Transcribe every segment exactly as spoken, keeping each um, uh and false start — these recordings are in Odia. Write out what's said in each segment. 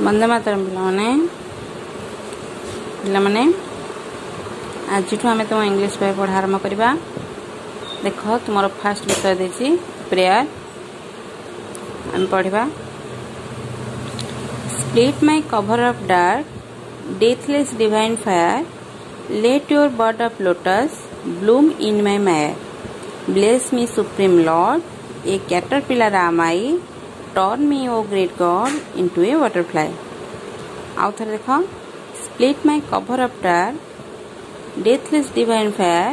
ବନ୍ଦେ ମାତରମ୍ ପିଲାମାନେ ପିଲାମାନେ ଆଜିଠୁ ଆମେ ତୁମ ଇଂଲିଶ ବହି ପଢ଼ା ଆରମ୍ଭ କରିବା ଦେଖ ତୁମର ଫାଷ୍ଟ ବିଷୟ ଦେଇଛି ପ୍ରେୟାର ଆମେ ପଢ଼ିବା Split my cover of dark deathless divine fire let your bud of lotus bloom in my mire bless me supreme lord a caterpillar am I turn me o great god into a butterfly ଆଉ ଥରେ ଦେଖ split my cover of dark deathless divine fire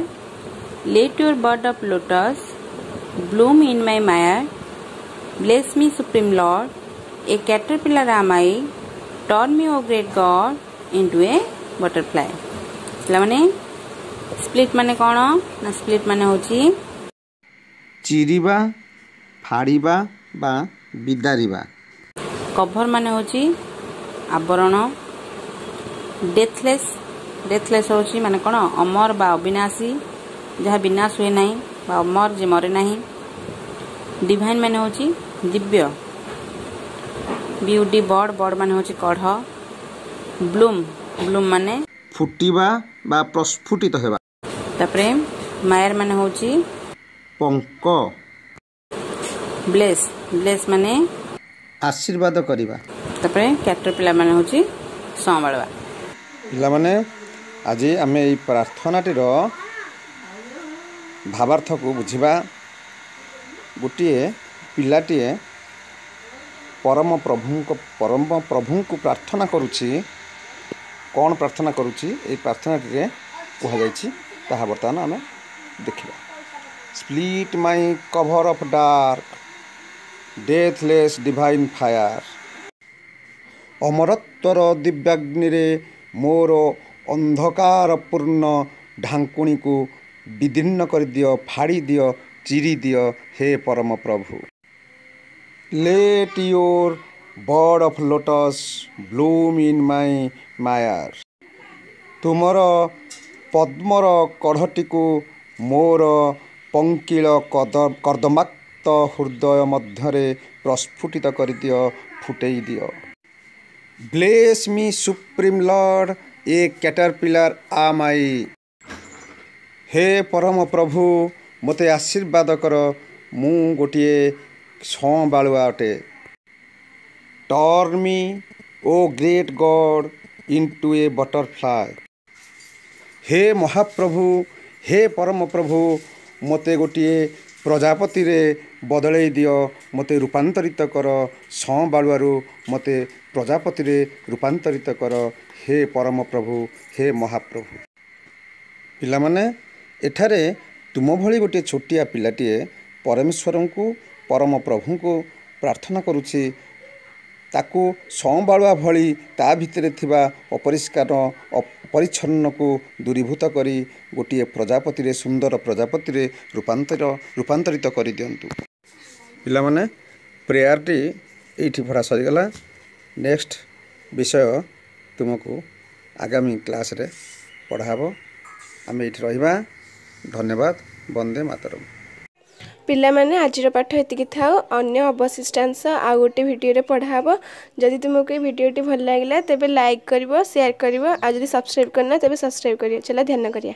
let your bud of lotus bloom in my mire bless me supreme lord a caterpillar am I turn me o great god into a butterfly ପିଲାମାନେ ସ୍ପ୍ଲିଟ୍ ମାନେ କ'ଣ ନା ସ୍ପ୍ଲିଟ୍ ମାନେ ହେଉଛି ଚିରିବା ଫାଡ଼ିବା ବା ବିଦାରିବା କଭର ମାନେ ହେଉଛି ଆବରଣ ଡେଥଲେସ୍ ଡେଥଲେସ୍ ହେଉଛି ମାନେ କ'ଣ ଅମର ବା ଅବିନାଶୀ ଯାହା ବିନାଶ ହୁଏ ନାହିଁ ବା ଅମର ଯେ ମରେ ନାହିଁ ଡିଭାଇନ୍ ମାନେ ହେଉଛି ଦିବ୍ୟ ବିୟୁଡି ବଡ୍ ବଡ୍ ମାନେ ହେଉଛି କଢ଼ ବ୍ଲୁମ୍ ବ୍ଲୁମ୍ ମାନେ ଫୁଟିବା ବା ପ୍ରସ୍ଫୁଟିତ ହେବା ତାପରେ ମାୟାର ମାନେ ହେଉଛି ପଙ୍କ ବ୍ଲେସ୍ ବ୍ଲେସ୍ ମାନେ ଆଶୀର୍ବାଦ କରିବା ତାପରେ କ୍ୟାଟରପିଲାର ମାନେ ହେଉଛି ସଁବାଳୁଆ ପିଲାମାନେ ଆଜି ଆମେ ଏଇ ପ୍ରାର୍ଥନାଟିର ଭାବାର୍ଥକୁ ବୁଝିବା ଗୋଟିଏ ପିଲାଟିଏ ପରମ ପ୍ରଭୁଙ୍କ ପରମ ପ୍ରଭୁଙ୍କୁ ପ୍ରାର୍ଥନା କରୁଛି କ'ଣ ପ୍ରାର୍ଥନା କରୁଛି ଏଇ ପ୍ରାର୍ଥନାଟିରେ କୁହାଯାଇଛି ତାହା ବର୍ତ୍ତମାନ ଆମେ ଦେଖିବା Split my cover of dark deathless divine fire ଅମରତ୍ୱର ଦିବ୍ୟାଗ୍ନିରେ ମୋର ଅନ୍ଧକାରପୂର୍ଣ୍ଣ ଢାଙ୍କୁଣୀକୁ ବିଦୀର୍ଣ୍ଣ କରିଦିଅ ଫାଡ଼ି ଦିଅ ଚିରି ଦିଅ ହେ ପରମ ପ୍ରଭୁ Let your bud of lotus bloom in my mire ତୁମର ପଦ୍ମର କଢ଼ଟିକୁ ମୋର ପଙ୍କିଳ କଦ କର୍ଦ୍ଦମାକ୍ତ ହୃଦୟ ମଧ୍ୟରେ ପ୍ରସ୍ଫୁଟିତ କରିଦିଅ ଫୁଟେଇ ଦିଅ Bless me supreme lord a caterpillar am I ହେ ପରମ ପ୍ରଭୁ ମୋତେ ଆଶୀର୍ବାଦ କର ମୁଁ ଗୋଟିଏ ସଁବାଳୁଆ ଅଟେ Turn me o great god into a butterfly ହେ ମହାପ୍ରଭୁ ହେ ପରମ ପ୍ରଭୁ ମୋତେ ଗୋଟିଏ ପ୍ରଜାପତିରେ ବଦଳେଇ ଦିଅ ମୋତେ ରୂପାନ୍ତରିତ କର ସଁବାଳୁଆରୁ ମୋତେ ପ୍ରଜାପତିରେ ରୂପାନ୍ତରିତ କର ହେ ପରମ ପ୍ରଭୁ ହେ ମହାପ୍ରଭୁ ପିଲାମାନେ ଏଠାରେ ତୁମ ଭଳି ଗୋଟିଏ ଛୋଟିଆ ପିଲାଟିଏ ପରମେଶ୍ୱରଙ୍କୁ ପରମ ପ୍ରଭୁଙ୍କୁ ପ୍ରାର୍ଥନା କରୁଛି ତାକୁ ସଁବାଳୁଆ ଭଳି ତା ଭିତରେ ଥିବା ଅପରିଷ୍କାର ଅପରିଚ୍ଛନ୍ନକୁ ଦୂରୀଭୂତ କରି ଗୋଟିଏ ପ୍ରଜାପତିରେ ସୁନ୍ଦର ପ୍ରଜାପତିରେ ରୂପାନ୍ତର ରୂପାନ୍ତରିତ କରିଦିଅନ୍ତୁ ପିଲାମାନେ ପ୍ରେୟାରଟି ଏଇଠି ପଢ଼ା ସରିଗଲା ନେକ୍ସଟ ବିଷୟ ତୁମକୁ ଆଗାମୀ କ୍ଲାସ୍ରେ ପଢ଼ା ହେବ ଆମେ ଏଇଠି ରହିବା ଧନ୍ୟବାଦ ବନ୍ଦେ ମାତରମ୍ ପିଲାମାନେ ଆଜିର ପାଠ ଏତିକି ଥାଉ ଅନ୍ୟ ଅବଶିଷ୍ଟାଂଶ ଆଉ ଗୋଟେ ଭିଡ଼ିଓରେ ପଢ଼ା ହେବ ଯଦି ତୁମକୁ ଏଇ ଭିଡ଼ିଓଟି ଭଲ ଲାଗିଲା ତେବେ ଲାଇକ୍ କରିବ ସେୟାର କରିବ ଆଉ ଯଦି ସବସ୍କ୍ରାଇବ୍ କରିନ ତେବେ ସବସ୍କ୍ରାଇବ୍ କରିବ ଚାଲ ଧ୍ୟାନ କରିବା